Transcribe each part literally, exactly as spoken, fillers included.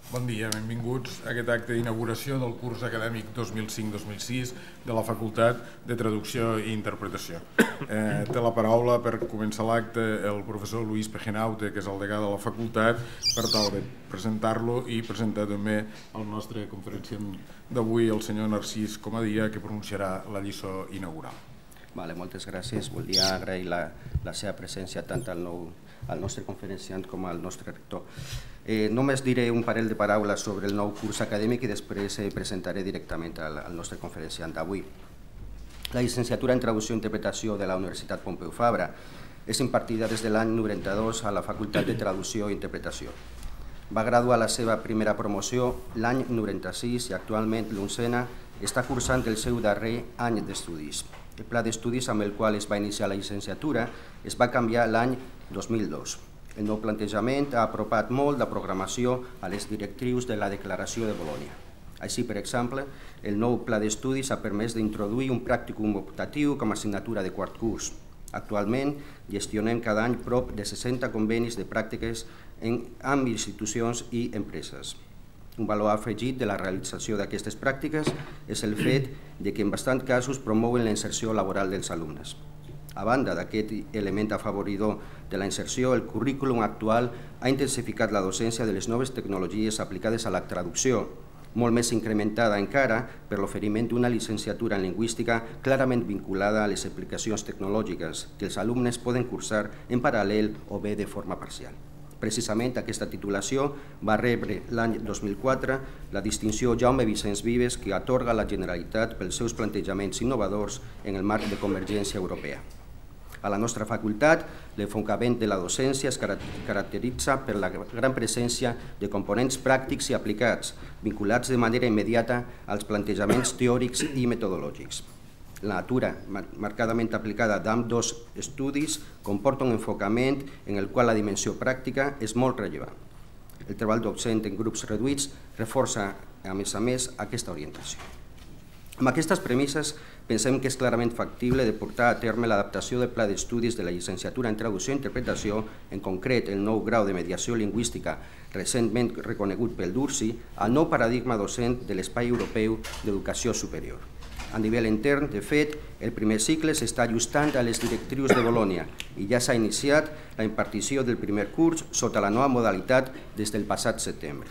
Bon dia, benvinguts a aquest acte d'inauguració del curs acadèmic dos mil cinc dos mil sis de la Facultat de Traducció i Interpretació. Eh, té la paraula per començar l'acte el professor Luis Pejenaute, que és el degà de la facultat, per tal de presentar-lo i presentar també el nostre conferenciant d'avui, el senyor Narcís Comadira, que pronunciarà la lliçó inaugural. Vale, moltes gràcies. Volia agrair la, la seva presència tant al, nou, al nostre conferenciant com al nostre rector. Eh, només diré un parell de paraules sobre el nou curs acadèmic i després eh, presentaré directament al, al nostre conferenciant d'avui. La llicenciatura en Traducció i Interpretació de la Universitat Pompeu Fabra és impartida des de l'any noranta-dos a la Facultat de Traducció i Interpretació. Va graduar la seva primera promoció l'any noranta-sis i actualment l'oncena està cursant el seu darrer any d'estudis. El pla d'estudis amb el qual es va iniciar la llicenciatura es va canviar l'any dos mil dos. El nou plantejament ha apropat molt la programació a les directrius de la Declaració de Bolonya. Així, per exemple, el nou pla d'estudis ha permès d'introduir un pràcticum optatiu com a assignatura de quart curs. Actualment, gestionem cada any prop de seixanta convenis de pràctiques amb institucions i empreses. Un valor afegit de la realització d'aquestes pràctiques és el fet de que en bastants casos promouen la inserció laboral dels alumnes. A banda d'aquest element afavoridor de la inserció, el currículum actual ha intensificat la docència de les noves tecnologies aplicades a la traducció, molt més incrementada encara per l'oferiment d'una llicenciatura en lingüística clarament vinculada a les aplicacions tecnològiques que els alumnes poden cursar en paral·lel o bé de forma parcial. Precisament aquesta titulació va rebre l'any dos mil quatre la distinció Jaume Vicenç Vives que atorga a la Generalitat pels seus plantejaments innovadors en el marc de Convergència Europea. A la nostra facultat, l'enfocament de la docència es caracteritza per la gran presència de components pràctics i aplicats, vinculats de manera immediata als plantejaments teòrics i metodològics. La natura marcadament aplicada d'ambdós estudis comporta un enfocament en el qual la dimensió pràctica és molt rellevant. El treball docent en grups reduïts reforça, a més a més, aquesta orientació. Amb aquestes premisses, pensem que és clarament factible de portar a terme l'adaptació del pla d'estudis de la llicenciatura en Traducció i Interpretació, en concret el nou grau de mediació lingüística recentment reconegut pel DURSI, al nou paradigma docent de l'Espai Europeu d'Educació Superior. A nivell intern, de fet, el primer cicle s'està ajustant a les directrius de Bolonya i ja s'ha iniciat la impartició del primer curs sota la nova modalitat des del passat setembre.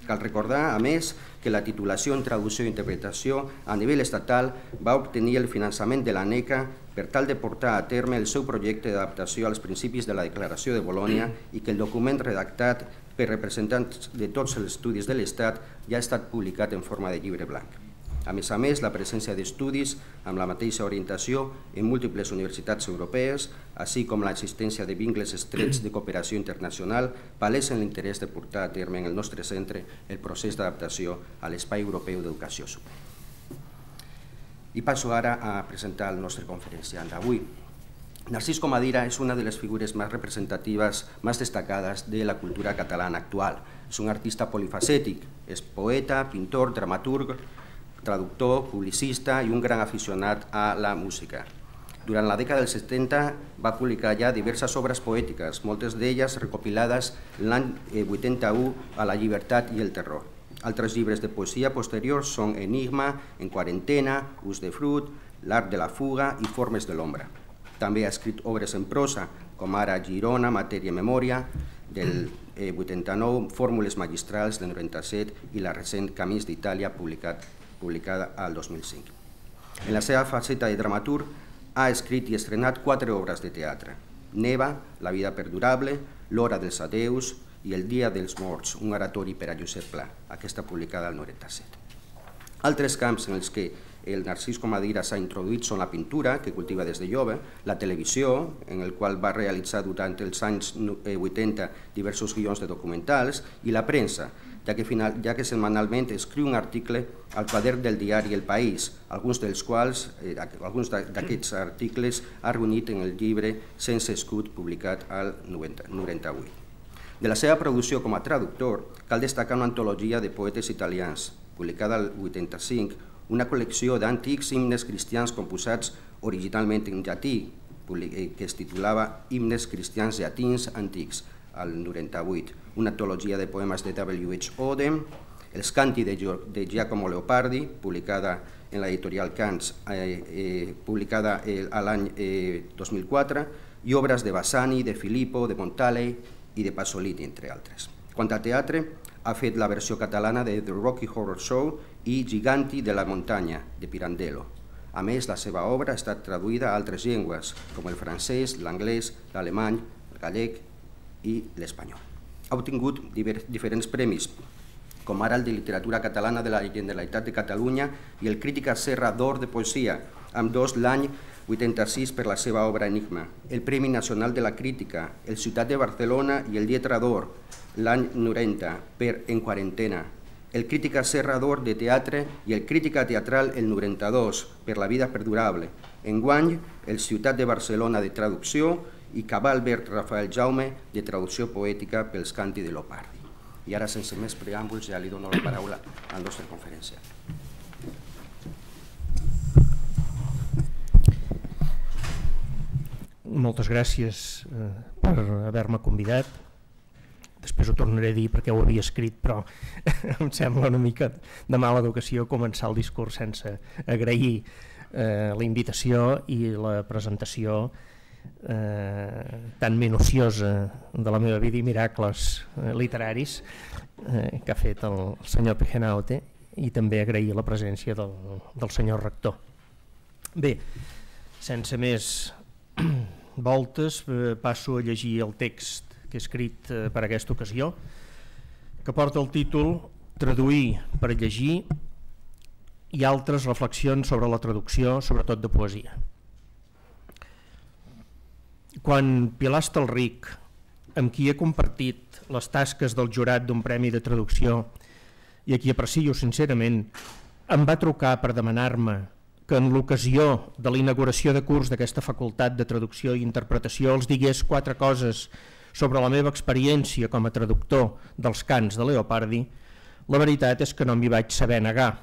Cal recordar, a més, que la titulació en Traducció i Interpretació a nivell estatal va obtenir el finançament de l'ANECA per tal de portar a terme el seu projecte d'adaptació als principis de la Declaració de Bolonya i que el document redactat per representants de tots els estudis de l'Estat ja ha estat publicat en forma de llibre blanc. A més a més, la presència d'estudis amb la mateixa orientació en múltiples universitats europees, així com l'existència de vincles estrets de cooperació internacional, palesen l'interès de portar a terme en el nostre centre el procés d'adaptació a l'Espai Europeu d'Educació Superior. I passo ara a presentar el nostre conferenciant d'avui. Narcís Comadira és una de les figures més representatives, més destacades de la cultura catalana actual. És un artista polifacètic, és poeta, pintor, dramaturg, traductor, publicista i un gran aficionat a la música. Durant la dècada dels setanta va publicar ja diverses obres poètiques, moltes d'elles recopilades l'any vuitanta-u a La llibertat i el terror. Altres llibres de poesia posteriors són Enigma, En quarantena, Ús de fruit, L'art de la fuga i Formes de l'ombra. També ha escrit obres en prosa, com ara Girona, Matèria i Memòria, del vuitanta-nou, Fórmules magistrals del noranta-set i la recent Camins d'Itàlia, publicat publicada al dos mil cinc. En la seva faceta de dramaturg ha escrit i estrenat quatre obres de teatre: Neva, La vida perdurable, L'hora dels adeus i El dia dels morts, un oratori per a Josep Pla, aquesta publicada al noranta-set. Altres camps en els que el Narcís Comadira s'ha introduït són la pintura, que cultiva des de jove, la televisió, en el qual va realitzar durant els anys vuitanta diversos guions de documentals, i la premsa, ja que, final, ja que setmanalment escriu un article al quadern del diari El País, alguns dels quals, eh, alguns d'aquests articles ha reunit en el llibre Sense escut, publicat al noranta-vuit. De la seva producció com a traductor, cal destacar una antologia de poetes italians, publicada al vuitanta-cinc, una col·lecció d'antics himnes cristians composats originalment en llatí, que es titulava Himnes cristians llatins antics, al noranta-vuit, una antologia de poemes de W H Auden, Els canti de, de Giacomo Leopardi, publicada en l'editorial Cants, eh, eh, publicada eh, a l'any eh, dos mil quatre, i obres de Bassani, de Filippo, de Montale i de Pasolini, entre altres. Quant a teatre, ha fet la versió catalana de The Rocky Horror Show i Giganti de la Montagna, de Pirandello. A més, la seva obra ha estat traduïda a altres llengües, com el francès, l'anglès, l'alemany, el gallec i l'espanyol. Ha obtingut diferents premis, com ara el de Literatura Catalana de la Generalitat de Catalunya i el Crítica Serra d'Or de Poesia, amb dos l'any vuitanta-sis per la seva obra Enigma, el Premi Nacional de la Crítica, el Ciutat de Barcelona i el Lletra d'Or l'any noranta per En Quarantena, el Crítica Serra d'Or de Teatre i el Crítica Teatral el noranta-dos per La Vida Perdurable, enguany el Ciutat de Barcelona de Traducció i Cabalbert Rafael Jaume de Traducció Poètica pels Canti de Leopardi. I ara, sense més preàmbuls, ja li dono la paraula al nostre conferenciant. Moltes gràcies eh, per haver-me convidat. Després ho tornaré a dir perquè ho havia escrit, però em sembla una mica de mala educació començar el discurs sense agrair eh, la invitació i la presentació Eh, tan minuciosa de la meva vida i miracles eh, literaris eh, que ha fet el, el senyor Pejenaute, i també agrair la presència del, del senyor rector. Bé, sense més voltes, eh, passo a llegir el text que he escrit eh, per aquesta ocasió, que porta el títol Traduir per llegir i altres reflexions sobre la traducció, sobretot de poesia. Quan Pilar Estalric, amb qui he compartit les tasques del jurat d'un premi de traducció i a qui aprecio sincerament, em va trucar per demanar-me que en l'ocasió de la inauguració de curs d'aquesta facultat de traducció i interpretació els digués quatre coses sobre la meva experiència com a traductor dels cants de Leopardi, la veritat és que no m'hi vaig saber negar.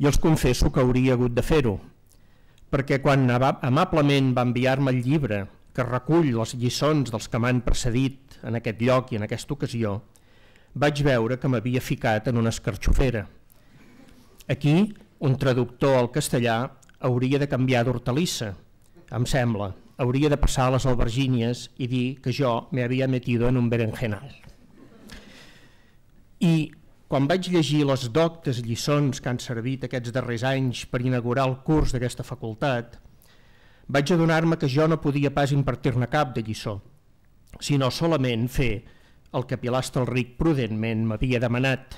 I els confesso que hauria hagut de fer-ho, perquè quan amablement va enviar-me el llibre que recull les lliçons dels que m'han precedit en aquest lloc i en aquesta ocasió, vaig veure que m'havia ficat en una escarxofera. Aquí, un traductor al castellà hauria de canviar d'hortalissa, em sembla, hauria de passar a les albergínies i dir que jo me había metido en un berenjenal. I quan vaig llegir les doctes lliçons que han servit aquests darrers anys per inaugurar el curs d'aquesta facultat, vaig adonar-me que jo no podia pas impartir-ne cap de lliçó, sinó solament fer el que Pilar Estalric prudentment m'havia demanat,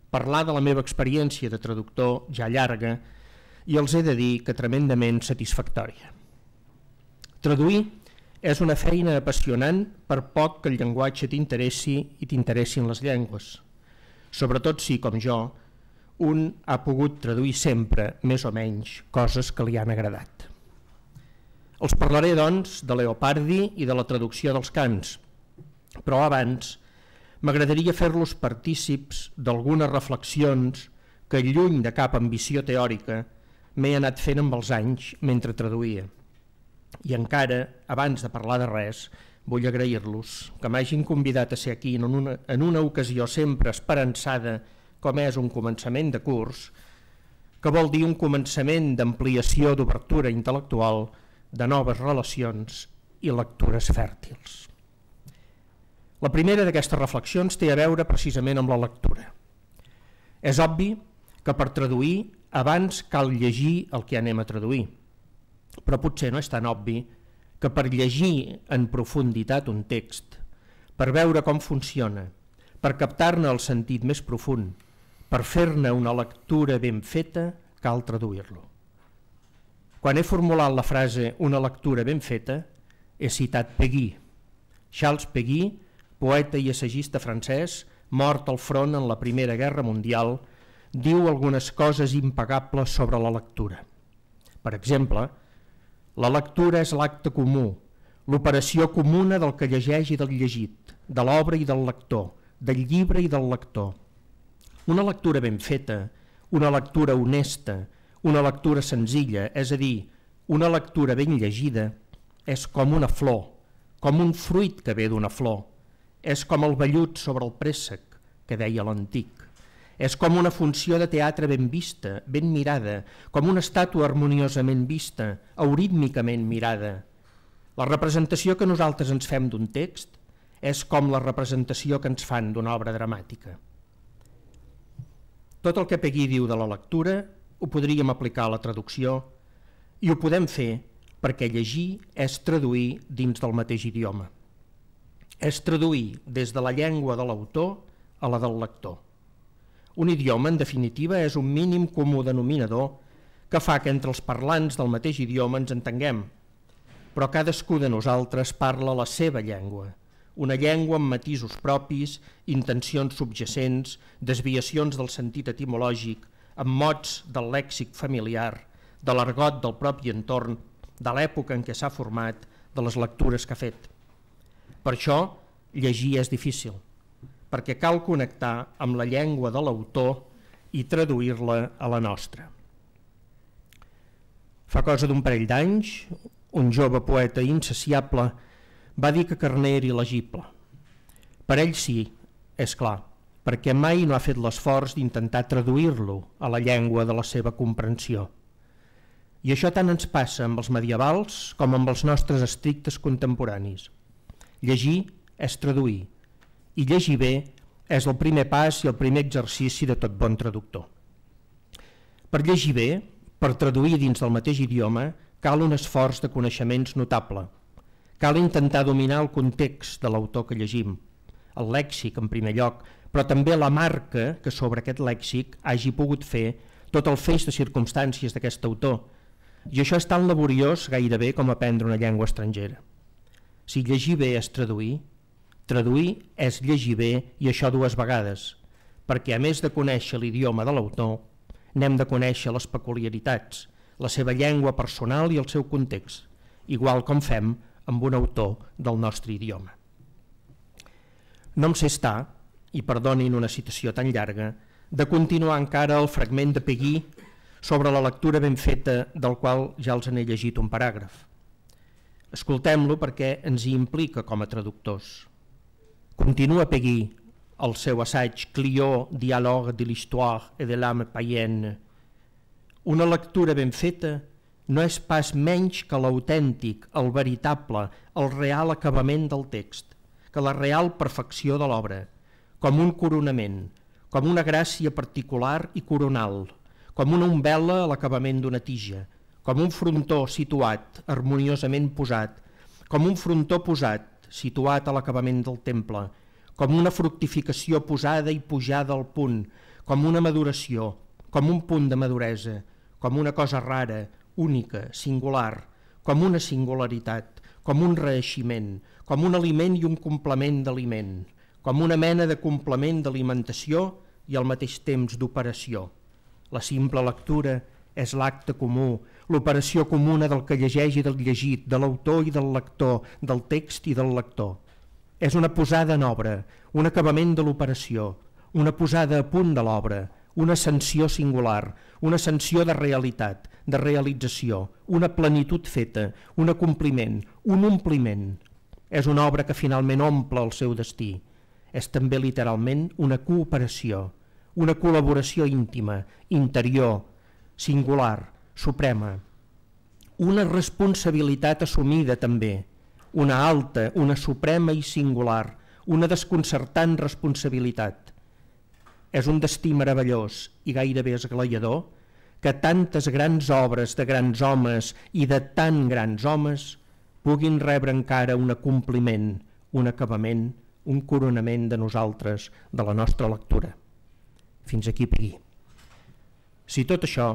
parlar de la meva experiència de traductor ja llarga, i els he de dir que tremendament satisfactòria. Traduir és una feina apassionant per poc que el llenguatge t'interessi i t'interessin les llengües, sobretot si, com jo, un ha pogut traduir sempre, més o menys, coses que li han agradat. Els parlaré, doncs, de Leopardi i de la traducció dels cants, però abans m'agradaria fer-los partícips d'algunes reflexions que, lluny de cap ambició teòrica, m'he anat fent amb els anys mentre traduïa. I encara, abans de parlar de res, vull agrair-los que m'hagin convidat a ser aquí en una, en una ocasió sempre esperançada com és un començament de curs, que vol dir un començament d'ampliació d'obertura intel·lectual, de noves relacions i lectures fèrtils. La primera d'aquestes reflexions té a veure precisament amb la lectura. És obvi que per traduir abans cal llegir el que anem a traduir, però potser no és tan obvi que per llegir en profunditat un text, per veure com funciona, per captar-ne el sentit més profund, per fer-ne una lectura ben feta, cal traduir-lo. Quan he formulat la frase «una lectura ben feta», he citat Péguy. Charles Péguy, poeta i assagista francès, mort al front en la Primera Guerra Mundial, diu algunes coses impagables sobre la lectura. Per exemple, la lectura és l'acte comú, l'operació comuna del que llegeix i del llegit, de l'obra i del lector, del llibre i del lector. Una lectura ben feta, una lectura honesta, una lectura senzilla, és a dir, una lectura ben llegida, és com una flor, com un fruit que ve d'una flor, és com el vellut sobre el préssec, que deia l'antic. És com una funció de teatre ben vista, ben mirada, com una estàtua harmoniosament vista, eurítmicament mirada. La representació que nosaltres ens fem d'un text és com la representació que ens fan d'una obra dramàtica. Tot el que Peguy diu de la lectura ho podríem aplicar a la traducció i ho podem fer perquè llegir és traduir dins del mateix idioma. És traduir des de la llengua de l'autor a la del lector. Un idioma, en definitiva, és un mínim comú denominador que fa que entre els parlants del mateix idioma ens entenguem, però cadascú de nosaltres parla la seva llengua, una llengua amb matisos propis, intencions subjacents, desviacions del sentit etimològic, amb mots del lèxic familiar, de l'argot del propi entorn, de l'època en què s'ha format, de les lectures que ha fet. Per això, llegir és difícil, perquè cal connectar amb la llengua de l'autor i traduir-la a la nostra. Fa cosa d'un parell d'anys, un jove poeta insaciable va dir que Carner era il·legible. Per ell sí, és clar, perquè mai no ha fet l'esforç d'intentar traduir-lo a la llengua de la seva comprensió. I això tant ens passa amb els medievals com amb els nostres estrictes contemporanis. Llegir és traduir, i llegir bé és el primer pas i el primer exercici de tot bon traductor. Per llegir bé, per traduir dins del mateix idioma, cal un esforç de coneixements notable. Cal intentar dominar el context de l'autor que llegim, el lèxic en primer lloc, però també la marca que sobre aquest lèxic hagi pogut fer tot el feix de circumstàncies d'aquest autor. I això és tan laboriós gairebé com aprendre una llengua estrangera. Si llegir bé és traduir, traduir és llegir bé i això dues vegades, perquè a més de conèixer l'idioma de l'autor, n'hem de conèixer les peculiaritats, la seva llengua personal i el seu context, igual com fem amb un autor del nostre idioma. No em sé estar, i perdonin una citació tan llarga, de continuar encara el fragment de Peguy sobre la lectura ben feta del qual ja els n'he llegit un paràgraf. Escoltem-lo perquè ens hi implica com a traductors. Continua Peguy el seu assaig Clio, dialogue de l'histoire et de l'âme païenne. Una lectura ben feta no és pas menys que l'autèntic, el veritable, el real acabament del text, que la real perfecció de l'obra, com un coronament, com una gràcia particular i coronal, com una umbel·la a l'acabament d'una tija, com un frontó situat, harmoniosament posat, com un frontó posat, situat a l'acabament del temple, com una fructificació posada i pujada al punt, com una maduració, com un punt de maduresa, com una cosa rara, única, singular, com una singularitat, com un reeiximent, com un aliment i un complement d'aliment, com una mena de complement d'alimentació i al mateix temps d'operació. La simple lectura és l'acte comú, l'operació comuna del que llegeix i del llegit, de l'autor i del lector, del text i del lector. És una posada en obra, un acabament de l'operació, una posada a punt de l'obra, una ascensió singular, una ascensió de realitat, de realització, una plenitud feta, un acompliment, un ompliment. És una obra que finalment omple el seu destí. És també literalment una cooperació, una col·laboració íntima, interior, singular, suprema. Una responsabilitat assumida també, una alta, una suprema i singular, una desconcertant responsabilitat. És un destí meravellós i gairebé esglaiador que tantes grans obres de grans homes i de tan grans homes puguin rebre encara un acompliment, un acabament, un coronament de nosaltres, de la nostra lectura. Fins aquí Peguy. Si tot això,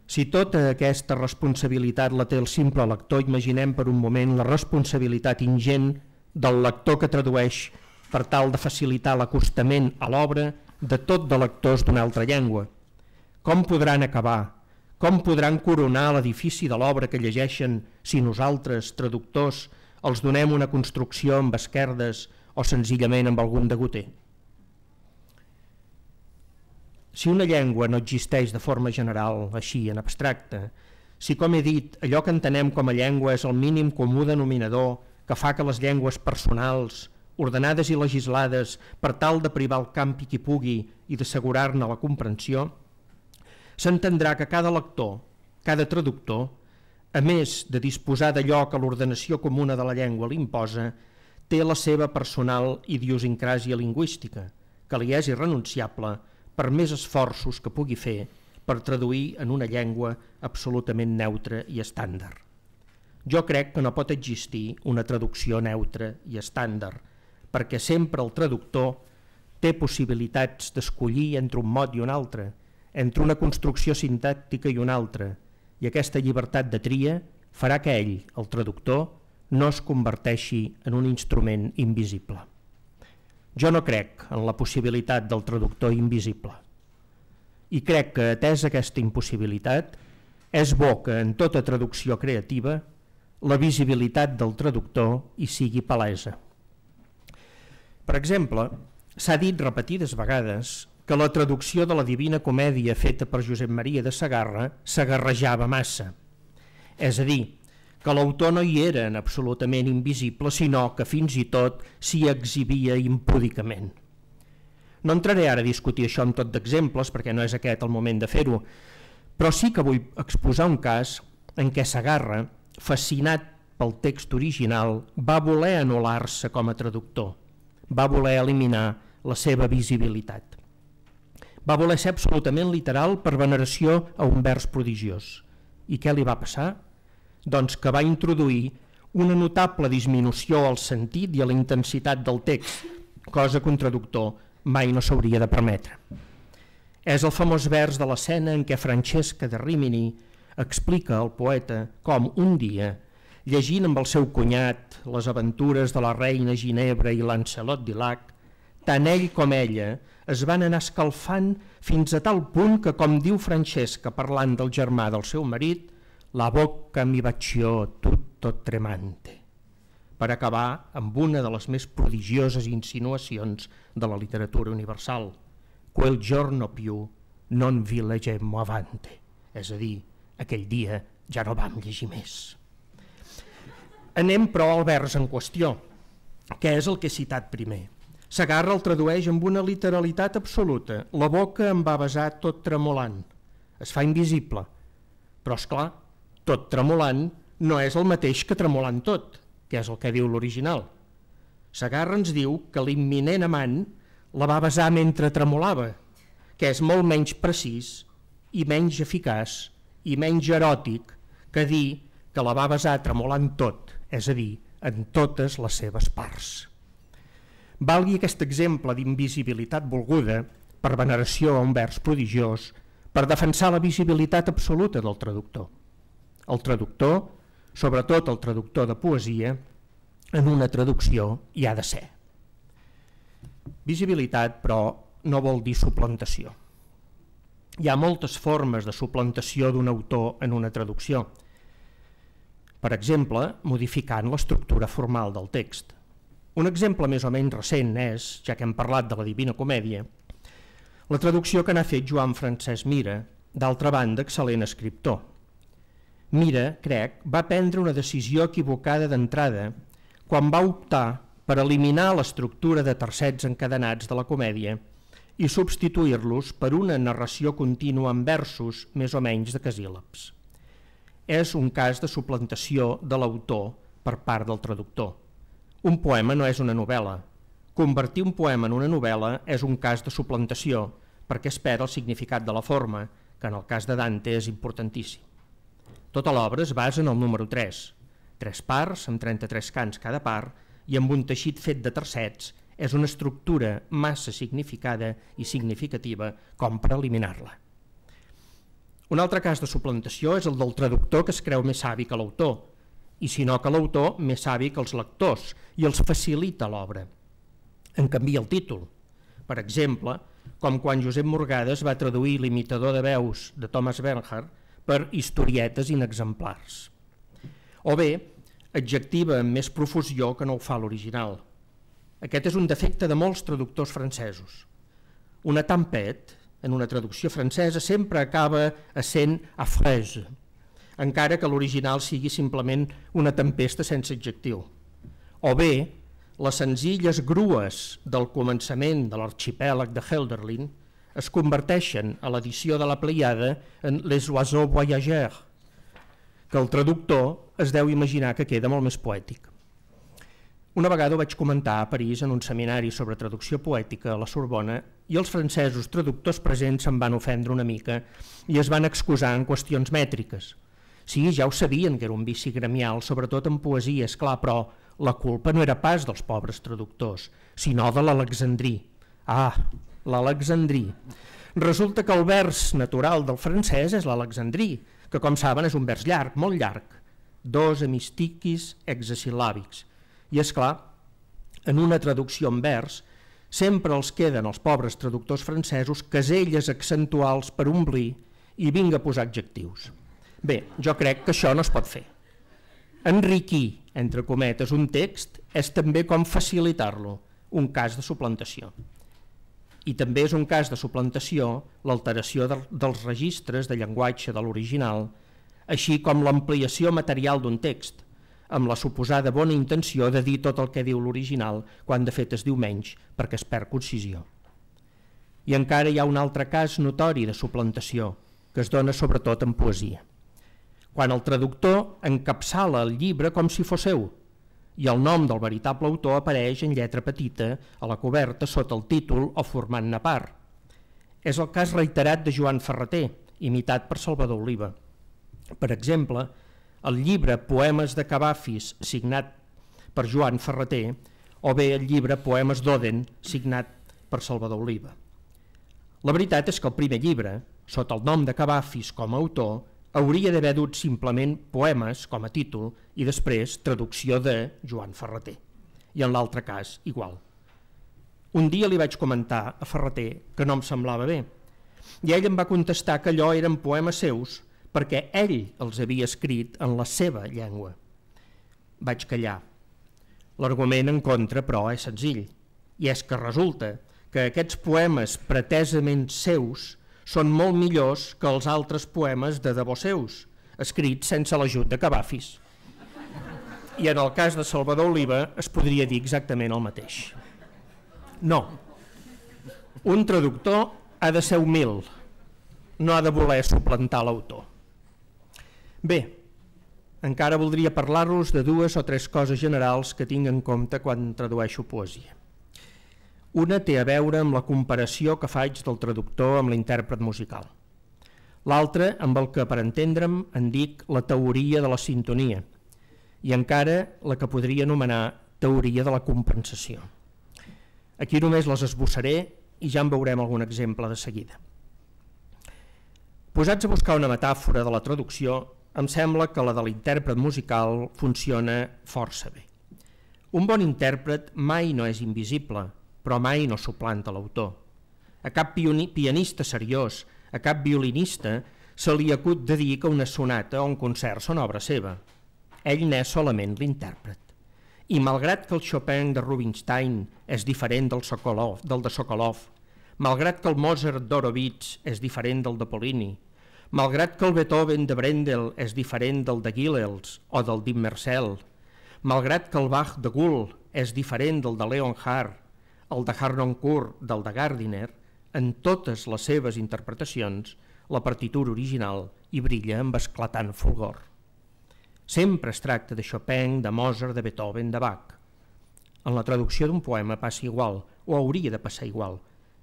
si tota aquesta responsabilitat la té el simple lector, imaginem per un moment la responsabilitat ingent del lector que tradueix per tal de facilitar l'acostament a l'obra de tot de lectors d'una altra llengua. Com podran acabar, com podran coronar l'edifici de l'obra que llegeixen si nosaltres, traductors, els donem una construcció amb esquerdes o senzillament amb algun degoter? Si una llengua no existeix de forma general, així, en abstracte, si, com he dit, allò que entenem com a llengua és el mínim comú denominador que fa que les llengües personals, ordenades i legislades per tal de privar el campi qui pugui i d'assegurar-ne la comprensió, s'entendrà que cada lector, cada traductor, a més de disposar d'allò que l'ordenació comuna de la llengua l'imposa, té la seva personal idiosincràsia lingüística, que li és irrenunciable per més esforços que pugui fer per traduir en una llengua absolutament neutra i estàndard. Jo crec que no pot existir una traducció neutra i estàndard, perquè sempre el traductor té possibilitats d'escollir entre un mot i un altre, entre una construcció sintàctica i una altra, i aquesta llibertat de tria farà que ell, el traductor, no es converteixi en un instrument invisible. Jo no crec en la possibilitat del traductor invisible. I crec que, atesa aquesta impossibilitat, és bo que en tota traducció creativa la visibilitat del traductor hi sigui palesa. Per exemple, s'ha dit repetides vegades que la traducció de la Divina Comèdia feta per Josep Maria de Segarra s'agarrejava massa. És a dir, que l'autor no hi era en absolutament invisible, sinó que fins i tot s'hi exhibia impúdicament. No entraré ara a discutir això amb tot d'exemples, perquè no és aquest el moment de fer-ho, però sí que vull exposar un cas en què Segarra, fascinat pel text original, va voler anul·lar-se com a traductor, va voler eliminar la seva visibilitat. Va voler ser absolutament literal per veneració a un vers prodigiós. I què li va passar? Doncs que va introduir una notable disminució al sentit i a la intensitat del text, cosa que un traductor mai no s'hauria de permetre. És el famós vers de l'escena en què Francesca de Rimini explica al poeta com un dia, llegint amb el seu cunyat les aventures de la reina Ginebra i Lancelot d'Ilac, tant ell com ella es van anar escalfant fins a tal punt que, com diu Francesca parlant del germà del seu marit, la bocca mi baciò tutto tremante, per acabar amb una de les més prodigioses insinuacions de la literatura universal. Quel giorno più non vi leggemmo avante, és a dir, aquell dia ja no vam llegir més. Anem, però, al vers en qüestió, que és el que he citat primer. Segarra el tradueix amb una literalitat absoluta. La boca em va besar tot tremolant. Es fa invisible. Però, és clar, tot tremolant no és el mateix que tremolant tot, que és el que diu l'original. Segarra ens diu que l'imminent amant la va besar mentre tremolava, que és molt menys precís i menys eficaç i menys eròtic que dir que la va besar tremolant tot, és a dir, en totes les seves parts. Valgui aquest exemple d'invisibilitat volguda per veneració a un vers prodigiós per defensar la visibilitat absoluta del traductor. El traductor, sobretot el traductor de poesia, en una traducció hi ha de ser. Visibilitat, però, no vol dir suplantació. Hi ha moltes formes de suplantació d'un autor en una traducció. Per exemple, modificant l'estructura formal del text. Un exemple més o menys recent és, ja que hem parlat de la Divina Comèdia, la traducció que n'ha fet Joan Francesc Mira, d'altra banda excel·lent escriptor. Mira, crec, va prendre una decisió equivocada d'entrada quan va optar per eliminar l'estructura de tercets encadenats de la comèdia i substituir-los per una narració contínua en versos més o menys de casíl·labs. És un cas de suplantació de l'autor per part del traductor. Un poema no és una novel·la. Convertir un poema en una novel·la és un cas de suplantació perquè es perd el significat de la forma, que en el cas de Dante és importantíssim. Tota l'obra es basa en el número tres, tres parts amb trenta-tres cants cada part i amb un teixit fet de tercets. És una estructura massa significada i significativa com per eliminar-la. Un altre cas de suplantació és el del traductor que es creu més savi que l'autor, i si no que l'autor més savi que els lectors, i els facilita l'obra. En canvia el títol. Per exemple, com quan Josep Morgades va traduir l'imitador de veus de Thomas Bernhard per historietes inexemplars. O bé, adjectiva amb més profusió que no ho fa l'original. Aquest és un defecte de molts traductors francesos. Una tempête, en una traducció francesa, sempre acaba essent affreuse, encara que l'original sigui simplement una tempesta sense adjectiu. O bé, les senzilles grues del començament de l'arxipèlag de Hölderlin es converteixen a l'edició de la Pleiada en Les oiseaux voyageurs, que el traductor es deu imaginar que queda molt més poètic. Una vegada ho vaig comentar a París en un seminari sobre traducció poètica a la Sorbona i els francesos traductors presents se'n van ofendre una mica i es van excusar en qüestions mètriques. Sí, ja ho sabien que era un vici gremial, sobretot en poesia, esclar, però la culpa no era pas dels pobres traductors, sinó de l'alexandrí. Ah, l'alexandrí. Resulta que el vers natural del francès és l'alexandrí, que com saben és un vers llarg, molt llarg, dos hemistiquis hexasil·làbics. I és clar, en una traducció en vers, sempre els queden els pobres traductors francesos caselles accentuals per omplir i vinga a posar adjectius. Bé, jo crec que això no es pot fer. Enriquir, entre cometes, un text és també com facilitar-lo, un cas de suplantació. I també és un cas de suplantació l'alteració dels registres de llenguatge de l'original, així com l'ampliació material d'un text, amb la suposada bona intenció de dir tot el que diu l'original quan de fet es diu menys perquè es perd concisió. I encara hi ha un altre cas notori de suplantació que es dona sobretot en poesia. Quan el traductor encapçala el llibre com si fos seu i el nom del veritable autor apareix en lletra petita a la coberta sota el títol o formant-ne part. És el cas reiterat de Joan Ferrater, imitat per Salvador Oliva. Per exemple, el llibre Poemes de Cavafis, signat per Joan Ferrater, o bé el llibre Poemes d'Oden, signat per Salvador Oliva. La veritat és que el primer llibre, sota el nom de Cavafis com a autor, hauria d'haver dut simplement Poemes com a títol i després traducció de Joan Ferrater. I en l'altre cas, igual. Un dia li vaig comentar a Ferrater que no em semblava bé, i ell em va contestar que allò eren poemes seus perquè ell els havia escrit en la seva llengua. Vaig callar. L'argument en contra, però, és senzill, i és que resulta que aquests poemes pretesament seus són molt millors que els altres poemes de debò seus, escrits sense l'ajut de Cavafis. I en el cas de Salvador Oliva es podria dir exactament el mateix. No. Un traductor ha de ser humil, no ha de voler suplantar l'autor. Bé, encara voldria parlar-los de dues o tres coses generals que tinc en compte quan tradueixo poesia. Una té a veure amb la comparació que faig del traductor amb l'intèrpret musical. L'altra amb el que, per entendre'm, en dic la teoria de la sintonia i encara la que podria anomenar teoria de la compensació. Aquí només les esbossaré i ja en veurem algun exemple de seguida. Posats a buscar una metàfora de la traducció, em sembla que la de l'intèrpret musical funciona força bé. Un bon intèrpret mai no és invisible, però mai no suplanta l'autor. A cap pianista seriós, a cap violinista, se li acut de dir que una sonata o un concert són obra seva. Ell n'és solament l'intèrpret. I malgrat que el Chopin de Rubinstein és diferent del, Sokolov, del de Sokolov, malgrat que el Mozart d'Horowitz és diferent del de Polini, malgrat que el Beethoven de Brendel és diferent del de Gilels o del d'Immersel, malgrat que el Bach de Gould és diferent del de Leonhardt, el de Harnoncourt del de Gardiner, en totes les seves interpretacions, la partitura original hi brilla amb esclatant fulgor. Sempre es tracta de Chopin, de Mozart, de Beethoven, de Bach. En la traducció d'un poema passa igual, o hauria de passar igual.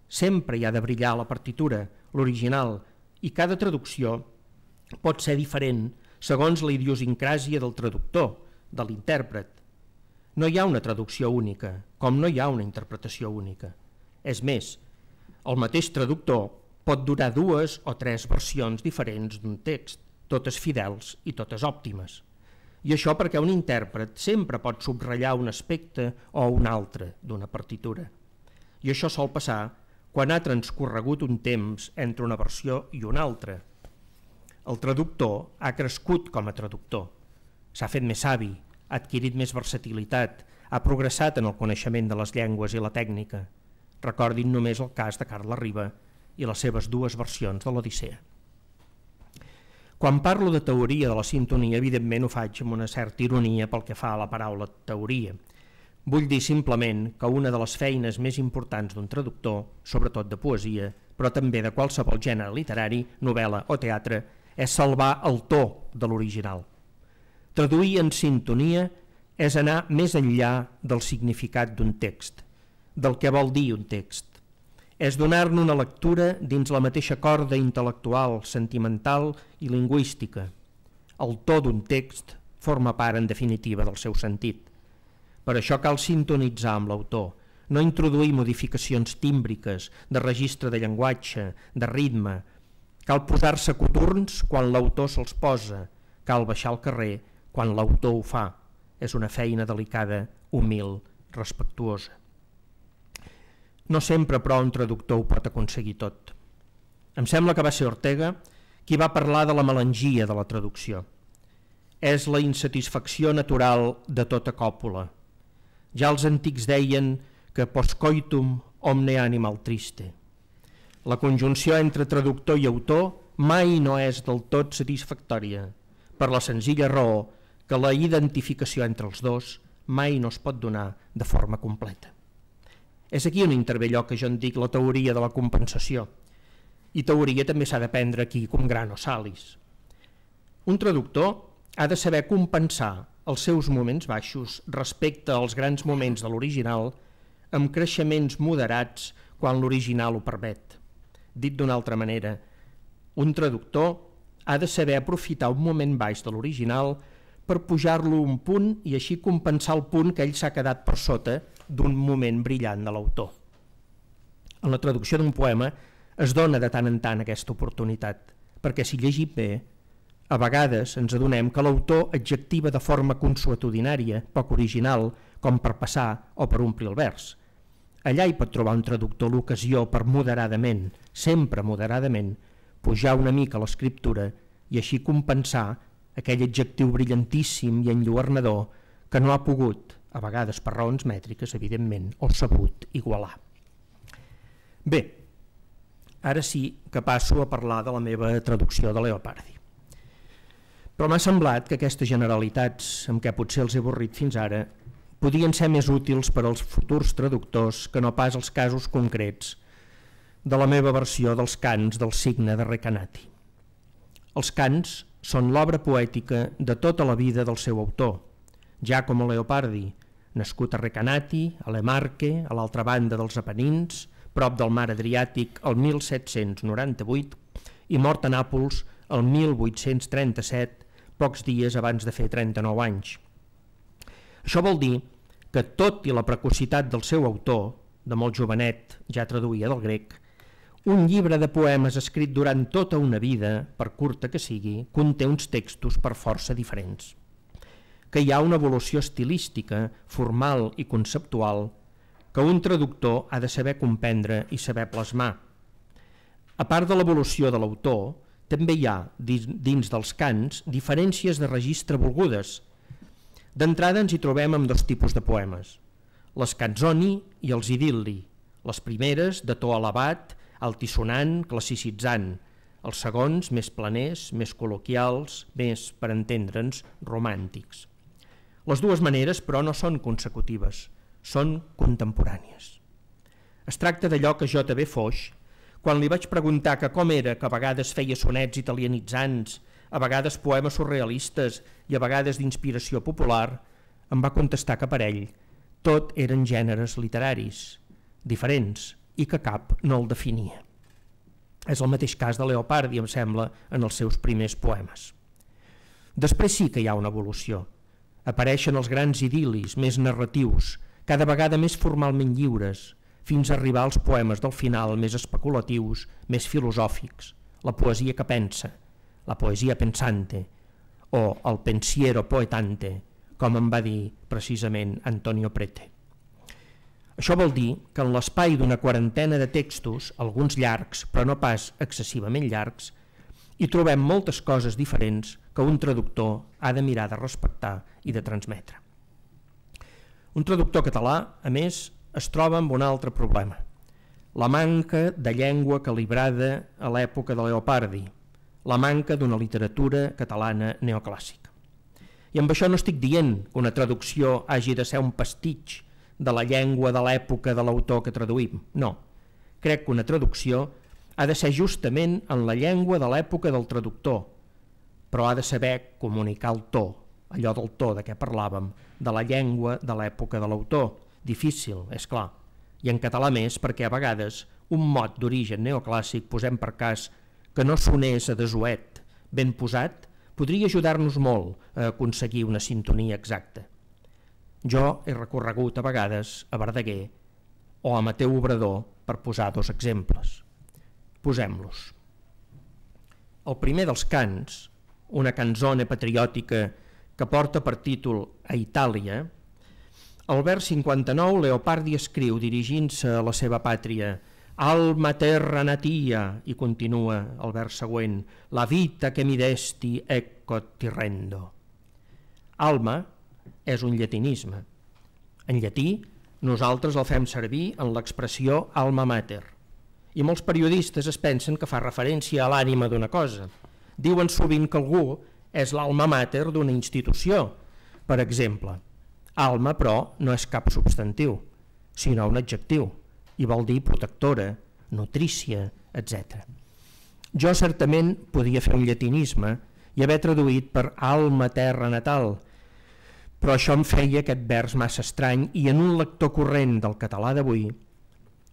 Sempre hi ha de brillar la partitura, l'original, i cada traducció pot ser diferent segons la idiosincràsia del traductor, de l'intèrpret. No hi ha una traducció única, com no hi ha una interpretació única. És més, el mateix traductor pot donar dues o tres versions diferents d'un text, totes fidels i totes òptimes. I això perquè un intèrpret sempre pot subratllar un aspecte o un altre d'una partitura. I això sol passar quan ha transcorregut un temps entre una versió i una altra. El traductor ha crescut com a traductor, s'ha fet més savi, ha adquirit més versatilitat, ha progressat en el coneixement de les llengües i la tècnica. Recordin només el cas de Carles Riba i les seves dues versions de l'Odissea. Quan parlo de teoria de la sintonia, evidentment ho faig amb una certa ironia pel que fa a la paraula teoria. Vull dir simplement que una de les feines més importants d'un traductor, sobretot de poesia, però també de qualsevol gènere literari, novel·la o teatre, és salvar el to de l'original. Traduir en sintonia és anar més enllà del significat d'un text, del que vol dir un text. És donar-ne una lectura dins la mateixa corda intel·lectual, sentimental i lingüística. El to d'un text forma part, en definitiva, del seu sentit. Per això cal sintonitzar amb l'autor, no introduir modificacions tímbriques, de registre de llenguatge, de ritme. Cal posar-se coturns quan l'autor se'ls posa, cal baixar al carrer quan l'autor ho fa. És una feina delicada, humil, respectuosa. No sempre, però, un traductor ho pot aconseguir tot. Em sembla que va ser Ortega qui va parlar de la melangia de la traducció. És la insatisfacció natural de tota còpula. Ja els antics deien que postcoitum omne animal triste. La conjunció entre traductor i autor mai no és del tot satisfactòria, per la senzilla raó que la identificació entre els dos mai no es pot donar de forma completa. És aquí on intervé allò que jo en dic la teoria de la compensació, i teoria també s'ha d'aprendre aquí com grano salis. Un traductor ha de saber compensar els seus moments baixos respecte als grans moments de l'original amb creixements moderats quan l'original ho permet. Dit d'una altra manera, un traductor ha de saber aprofitar un moment baix de l'original per pujar-lo un punt i així compensar el punt que ell s'ha quedat per sota d'un moment brillant de l'autor. En la traducció d'un poema es dona de tant en tant aquesta oportunitat, perquè si llegim bé, a vegades ens adonem que l'autor adjectiva de forma consuetudinària, poc original, com per passar o per omplir el vers. Allà hi pot trobar un traductor l'ocasió per moderadament, sempre moderadament, pujar una mica l'escriptura i així compensar aquell adjectiu brillantíssim i enlluernador que no ha pogut, a vegades per raons mètriques, evidentment, o sabut igualar. Bé, ara sí que passo a parlar de la meva traducció de Leopardi. Però m'ha semblat que aquestes generalitats, amb què potser els he avorrit fins ara, podien ser més útils per als futurs traductors que no pas els casos concrets de la meva versió dels cants del Signe de Recanati. Els cants són l'obra poètica de tota la vida del seu autor, Giacomo Leopardi, nascut a Recanati, a Le Marche, a l'altra banda dels Apenins, prop del mar Adriàtic el mil set-cents noranta-vuit i mort a Nàpols el mil vuit-cents trenta-set, pocs dies abans de fer trenta-nou anys. Això vol dir que, tot i la precocitat del seu autor, de molt jovenet, ja traduïa del grec, un llibre de poemes escrit durant tota una vida, per curta que sigui, conté uns textos per força diferents. Que hi ha una evolució estilística, formal i conceptual que un traductor ha de saber comprendre i saber plasmar. A part de l'evolució de l'autor, també hi ha, dins dels cants, diferències de registre volgudes. D'entrada ens hi trobem amb dos tipus de poemes, les canzoni i els idil·li, les primeres de to elevat, altisonant, classicitzant, els segons més planers, més col·loquials, més, per entendre'ns, romàntics. Les dues maneres, però, no són consecutives, són contemporànies. Es tracta d'allò que J B Foix, quan li vaig preguntar que com era que a vegades feia sonets italianitzants, a vegades poemes surrealistes i a vegades d'inspiració popular, em va contestar que per ell tot eren gèneres literaris, diferents, i que cap no el definia. És el mateix cas de Leopardi, em sembla, en els seus primers poemes. Després sí que hi ha una evolució. Apareixen els grans idil·lis, més narratius, cada vegada més formalment lliures, fins a arribar als poemes del final més especulatius, més filosòfics, la poesia que pensa, la poesia pensante, o el pensiero poetante, com em va dir precisament Antonio Prete. Això vol dir que en l'espai d'una quarantena de textos, alguns llargs, però no pas excessivament llargs, hi trobem moltes coses diferents que un traductor ha de mirar de respectar i de transmetre. Un traductor català, a més, es troba amb un altre problema, la manca de llengua calibrada a l'època de Leopardi, la manca d'una literatura catalana neoclàssica. I amb això no estic dient que una traducció hagi de ser un pastitx de la llengua de l'època de l'autor que traduïm. No, crec que una traducció ha de ser justament en la llengua de l'època del traductor, però ha de saber comunicar el to, allò del to de què parlàvem, de la llengua de l'època de l'autor. Difícil, és clar, i en català més perquè a vegades un mot d'origen neoclàssic, posem per cas que no sonés a desuet, ben posat, podria ajudar-nos molt a aconseguir una sintonia exacta. Jo he recorregut a vegades a Verdaguer o a Mateu Obrador per posar dos exemples. Posem-los. El primer dels cants, una canzone patriòtica que porta per títol A Itàlia, al vers cinquanta-nou Leopardi escriu, dirigint-se a la seva pàtria, Alma terra natia, i continua el vers següent, la vita que mi desti ecco ti rendo. Alma és un llatinisme. En llatí, nosaltres el fem servir en l'expressió alma mater. I molts periodistes es pensen que fa referència a l'ànima d'una cosa. Diuen sovint que algú és l'alma mater d'una institució. Per exemple, alma, però, no és cap substantiu, sinó un adjectiu, i vol dir protectora, nutrícia, etcètera. Jo certament podia fer un llatinisme i haver traduït per alma terra natal, però això em feia aquest vers massa estrany i en un lector corrent del català d'avui,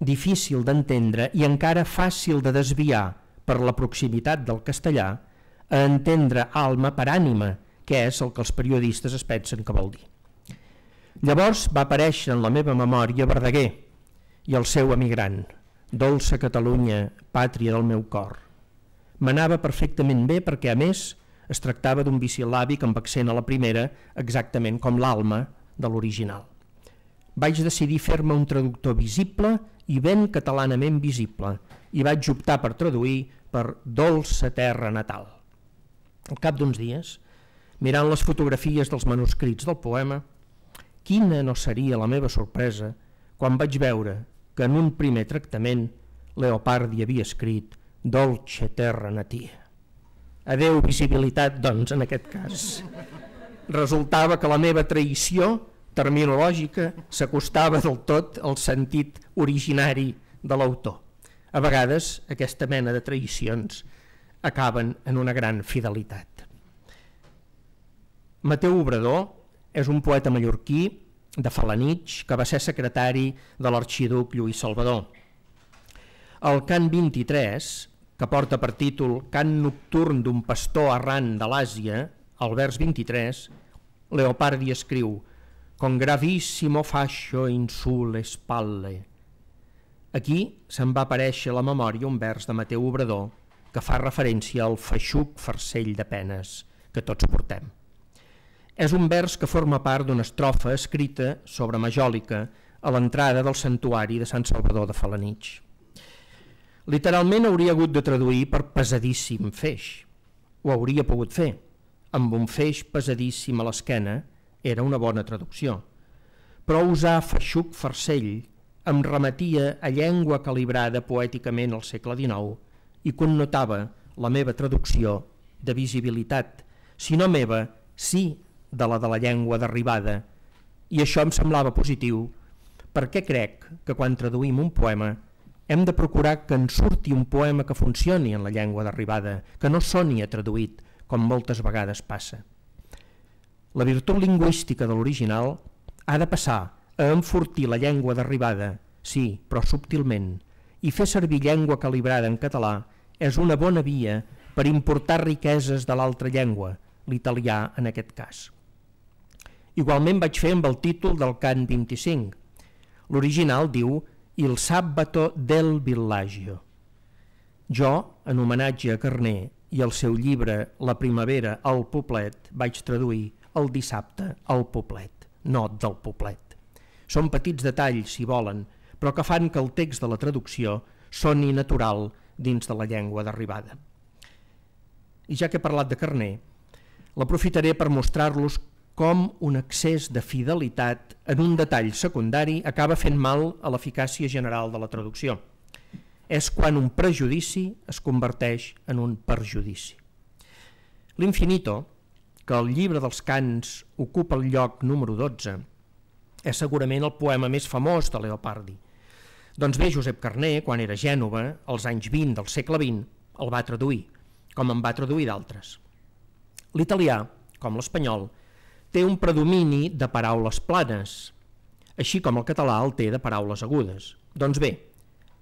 difícil d'entendre i encara fàcil de desviar per la proximitat del castellà a entendre alma per ànima, que és el que els periodistes es pensen que vol dir. Llavors va aparèixer en la meva memòria Verdaguer i el seu emigrant, dolça Catalunya, pàtria del meu cor. M'anava perfectament bé perquè, a més, es tractava d'un bisil·làbic amb accent a la primera, exactament com l'alma de l'original. Vaig decidir fer-me un traductor visible i ben catalanament visible i vaig optar per traduir per dolça terra natal. Al cap d'uns dies, mirant les fotografies dels manuscrits del poema, quina no seria la meva sorpresa quan vaig veure que en un primer tractament Leopardi havia escrit Dolce terra natia. Adeu visibilitat, doncs, en aquest cas. Resultava que la meva traïció terminològica s'acostava del tot al sentit originari de l'autor. A vegades aquesta mena de traïcions acaben en una gran fidelitat. Mateu Obrador és un poeta mallorquí de Felanitx que va ser secretari de l'arxiduc Lluís Salvador. El cant vint-i-tres, que porta per títol Cant nocturn d'un pastor errant de l'Àsia, al vers vint-i-tres, Leopardi escriu Con gravissimo fascio in sulle spalle. Aquí se'n va aparèixer a la memòria un vers de Mateu Obrador que fa referència al feixuc farcell de penes que tots portem. És un vers que forma part d'una estrofa escrita sobre Majòlica a l'entrada del santuari de Sant Salvador de Felanitx. Literalment hauria hagut de traduir per pesadíssim feix. Ho hauria pogut fer. Amb un feix pesadíssim a l'esquena era una bona traducció. Però usar feixuc farcell em remetia a llengua calibrada poèticament al segle dinou i connotava la meva traducció de visibilitat, si no meva, sí de la de la llengua d'arribada, i això em semblava positiu perquè crec que quan traduïm un poema hem de procurar que en surti un poema que funcioni en la llengua d'arribada, que no soni a traduït, com moltes vegades passa. La virtut lingüística de l'original ha de passar a enfortir la llengua d'arribada, sí, però subtilment, i fer servir llengua calibrada en català és una bona via per importar riqueses de l'altra llengua, l'italià en aquest cas. Igualment vaig fer amb el títol del cant vint-i-cinc. L'original diu Il sabato del villaggio. Jo, en homenatge a Carner i al seu llibre La primavera al poblet, vaig traduir el dissabte al poblet, no del poblet. Són petits detalls, si volen, però que fan que el text de la traducció soni natural dins de la llengua d'arribada. I ja que he parlat de Carner, l'aprofitaré per mostrar-los com un excés de fidelitat en un detall secundari acaba fent mal a l'eficàcia general de la traducció. És quan un prejudici es converteix en un perjudici. L'Infinito, que al llibre dels cants ocupa el lloc número dotze, és segurament el poema més famós de Leopardi. Doncs bé, Josep Carner, quan era a Gènova, als anys vint del segle vint, el va traduir, com en va traduir d'altres. L'italià, com l'espanyol, té un predomini de paraules planes, així com el català el té de paraules agudes. Doncs bé,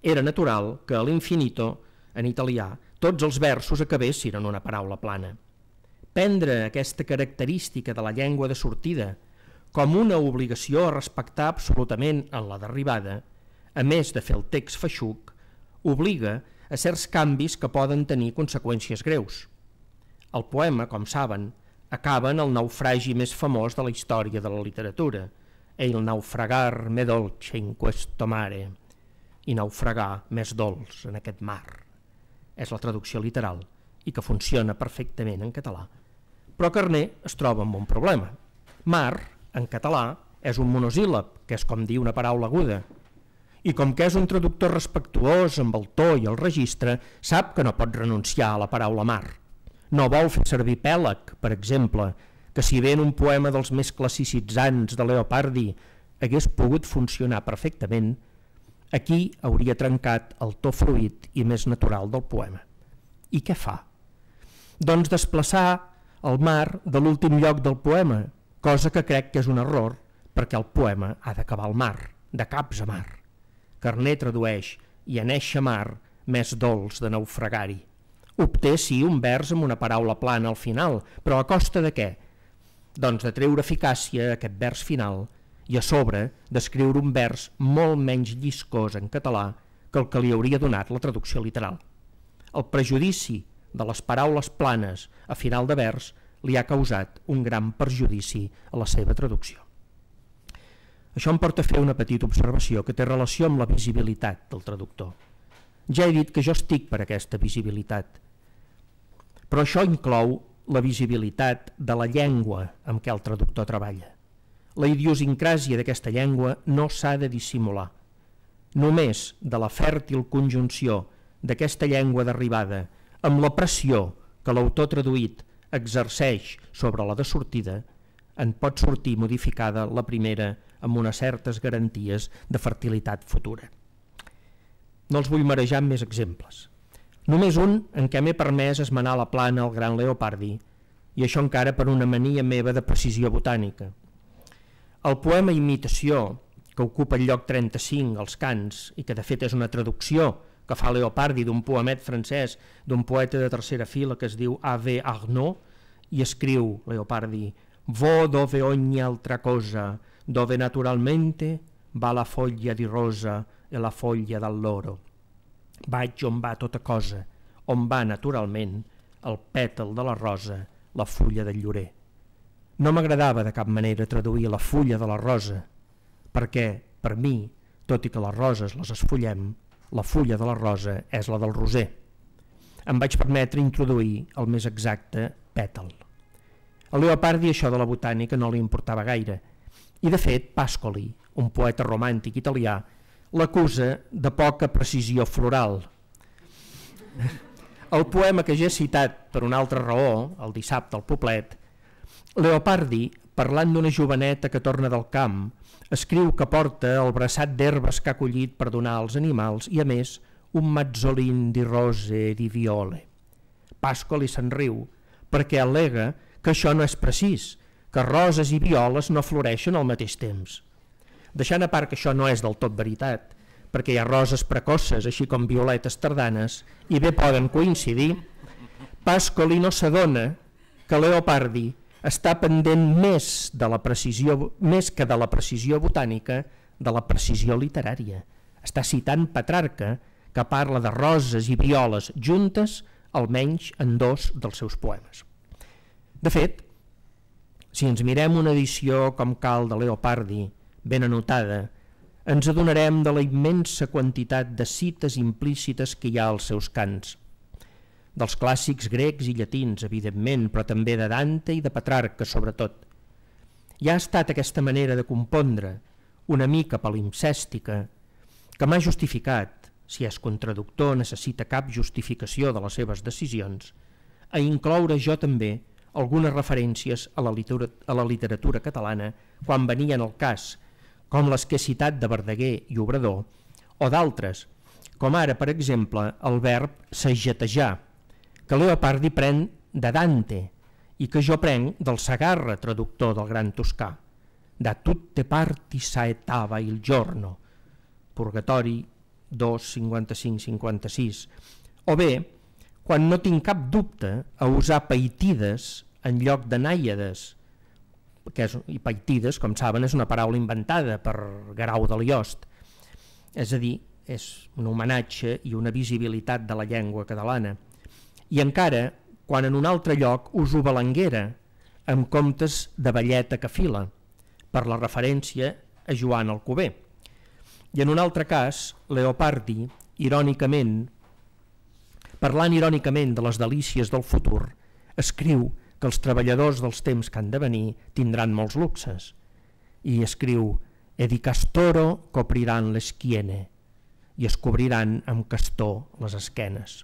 era natural que a l'infinito, en italià, tots els versos acabessin en una paraula plana. Prendre aquesta característica de la llengua de sortida com una obligació a respectar absolutament en la d'arribada, a més de fer el text feixuc, obliga a certs canvis que poden tenir conseqüències greus. El poema, com saben, acaba en el naufragi més famós de la història de la literatura, «Il naufragar me dolce in questo mare», i naufragar més dolç en aquest mar. És la traducció literal i que funciona perfectament en català. Però Carner es troba amb un problema. Mar, en català, és un monosíl·lab, que és com dir una paraula aguda. I com que és un traductor respectuós amb el to i el registre, sap que no pot renunciar a la paraula mar. No vol fer servir pèlag, per exemple, que si bé en un poema dels més classicitzants de Leopardi hagués pogut funcionar perfectament, aquí hauria trencat el to fluid i més natural del poema. I què fa? Doncs desplaçar el mar de l'últim lloc del poema, cosa que crec que és un error, perquè el poema ha d'acabar al mar, de caps a mar. Carner tradueix «i en eixa mar més dolç de naufragar-hi». Obté, sí, un vers amb una paraula plana al final, però a costa de què? Doncs de treure eficàcia a aquest vers final i a sobre d'escriure un vers molt menys lliscós en català que el que li hauria donat la traducció literal. El prejudici de les paraules planes a final de vers li ha causat un gran perjudici a la seva traducció. Això em porta a fer una petita observació que té relació amb la visibilitat del traductor. Ja he dit que jo estic per aquesta visibilitat, però això inclou la visibilitat de la llengua amb què el traductor treballa. La idiosincràsia d'aquesta llengua no s'ha de dissimular. Només de la fèrtil conjunció d'aquesta llengua d'arribada amb la pressió que l'autor traduït exerceix sobre la de sortida, en pot sortir modificada la primera amb unes certes garanties de fertilitat futura. No els vull marejar amb més exemples. Només un en què m'he permès esmenar la plana al gran Leopardi, i això encara per una mania meva de precisió botànica. El poema Imitació, que ocupa el lloc trenta-cinc als cants i que de fet és una traducció que fa Leopardi d'un poemet francès d'un poeta de tercera fila que es diu A V Arnaud, i escriu Leopardi «Vo dove ogni altra cosa, dove naturalmente va la foglia di rosa e la foglia d'alloro». Vaig on va tota cosa, on va naturalment el pètal de la rosa, la fulla del llorer. No m'agradava de cap manera traduir la fulla de la rosa, perquè, per mi, tot i que les roses les esfollem, la fulla de la rosa és la del roser. Em vaig permetre introduir el més exacte pètal. A Leopardi això de la botànica no li importava gaire, i de fet Pascoli, un poeta romàntic italià, l'acusa de poca precisió floral. El poema que ja he citat per una altra raó, el dissabte al Poblet, Leopardi, parlant d'una joveneta que torna del camp, escriu que porta el braçat d'herbes que ha collit per donar als animals i, a més, un mazzolin di rose e di viole. Pascoli se'n riu perquè al·lega que això no és precís, que roses i violes no floreixen al mateix temps. Deixant a part que això no és del tot veritat, perquè hi ha roses precoces, així com violetes tardanes, i bé poden coincidir, Pascoli no s'adona que Leopardi està pendent més, de la precisió, més que de la precisió botànica, de la precisió literària. Està citant Petrarca, que parla de roses i violes juntes, almenys en dos dels seus poemes. De fet, si ens mirem una edició com cal de Leopardi, ben anotada, ens adonarem de la immensa quantitat de cites implícites que hi ha als seus cants. Dels clàssics grecs i llatins, evidentment, però també de Dante i de Petrarca, sobretot. Ja ha estat aquesta manera de compondre, una mica palimpsèstica, que m'ha justificat, si és contraductor necessita cap justificació de les seves decisions, a incloure jo també algunes referències a la literatura, a la literatura catalana quan venien al cas, com les que he citat de Verdaguer i Obrador, o d'altres, com ara, per exemple, el verb sagetejar, que Leopardi pren de Dante i que jo prenc del Sagarra, traductor del gran toscà, da tutte parti saetava il giorno, Purgatori dos, cinquanta-cinc cinquanta-sis, o bé, quan no tinc cap dubte a usar peitides en lloc de nàiades, que és, i peitides, com saben, és una paraula inventada per Guerau de Liost, és a dir, és un homenatge i una visibilitat de la llengua catalana. I encara, quan en un altre lloc uso balanguera, en comptes de velleta que fila, per la referència a Joan Alcover. I en un altre cas, Leopardi, irònicament, parlant irònicament de les delícies del futur, escriu que els treballadors dels temps que han de venir tindran molts luxes. I escriu «E di castoro copriran l'eschiene» i es cobriran amb castor les esquenes.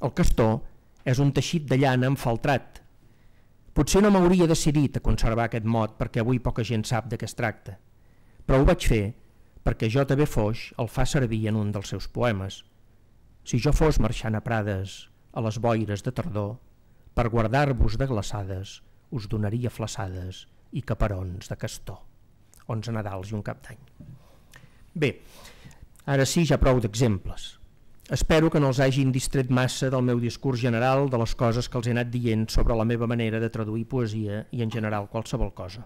El castor és un teixit de llana enfaltrat. Potser no m'hauria decidit a conservar aquest mot perquè avui poca gent sap de què es tracta, però ho vaig fer perquè J V Foix el fa servir en un dels seus poemes. Si jo fos marxant a Prades a les boires de tardor, per guardar-vos de glaçades us donaria flaçades i caparons de castor. onze Nadals i un Cap d'Any. Bé, ara sí ja prou d'exemples. Espero que no els hagin distret massa del meu discurs general, de les coses que els he anat dient sobre la meva manera de traduir poesia i en general qualsevol cosa.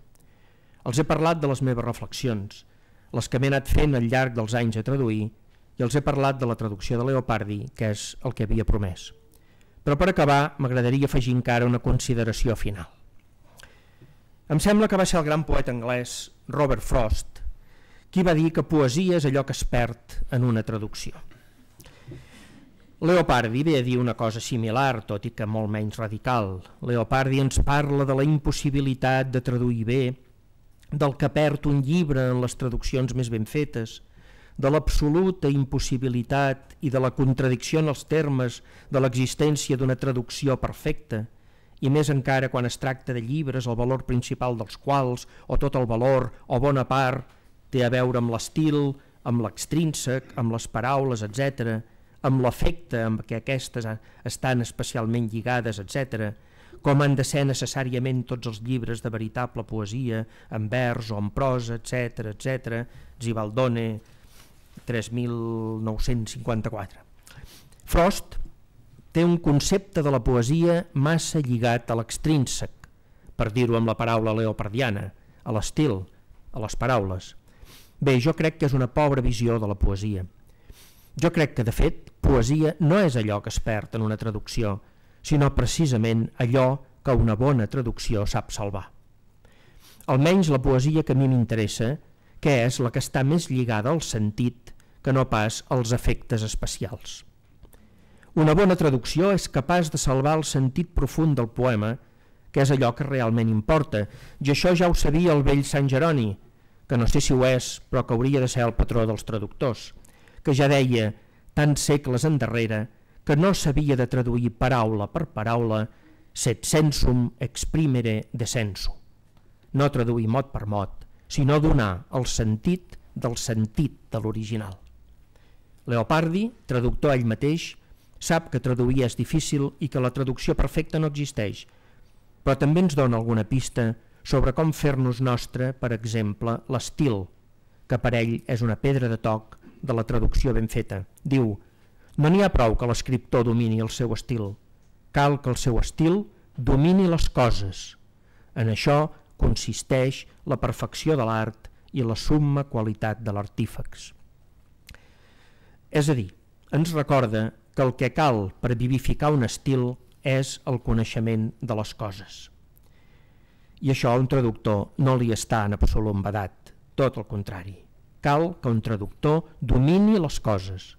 Els he parlat de les meves reflexions, les que m'he anat fent al llarg dels anys a traduir, i els he parlat de la traducció de Leopardi, que és el que havia promès. Però per acabar m'agradaria afegir encara una consideració final. Em sembla que va ser el gran poeta anglès Robert Frost qui va dir que poesia és allò que es perd en una traducció. Leopardi ve a dir una cosa similar, tot i que molt menys radical. Leopardi ens parla de la impossibilitat de traduir bé, del que perd un llibre en les traduccions més ben fetes, de l'absoluta impossibilitat i de la contradicció en els termes de l'existència d'una traducció perfecta, i més encara quan es tracta de llibres el valor principal dels quals, o tot el valor, o bona part, té a veure amb l'estil, amb l'extrínsec, amb les paraules, etcètera, amb l'efecte amb què aquestes estan especialment lligades, etcètera, com han de ser necessàriament tots els llibres de veritable poesia, en vers o en prosa, etcètera, etcètera, Zibaldone, tres mil nou-cents cinquanta-quatre. Frost té un concepte de la poesia massa lligat a l'extrínsec, per dir-ho amb la paraula leopardiana, a l'estil, a les paraules. Bé, jo crec que és una pobra visió de la poesia. Jo crec que, de fet, poesia no és allò que es perd en una traducció, sinó precisament allò que una bona traducció sap salvar. Almenys la poesia que a mi m'interessa, que és la que està més lligada al sentit que no pas als efectes especials. Una bona traducció és capaç de salvar el sentit profund del poema, que és allò que realment importa, i això ja ho sabia el vell Sant Jeroni, que no sé si ho és, però que hauria de ser el patró dels traductors, que ja deia, tants segles endarrere, que no s'havia de traduir paraula per paraula set sensum exprimere descenso. No traduir mot per mot, sinó donar el sentit del sentit de l'original. Leopardi, traductor ell mateix, sap que traduir és difícil i que la traducció perfecta no existeix, però també ens dona alguna pista sobre com fer-nos nostre, per exemple, l'estil, que per ell és una pedra de toc de la traducció ben feta. Diu, no n'hi ha prou que l'escriptor domini el seu estil, cal que el seu estil domini les coses. En això consisteix la perfecció de l'art i la summa qualitat de l'artífex. És a dir, ens recorda que el que cal per vivificar un estil és el coneixement de les coses. I això a un traductor no li està en absolut vedat, tot el contrari. Cal que un traductor domini les coses,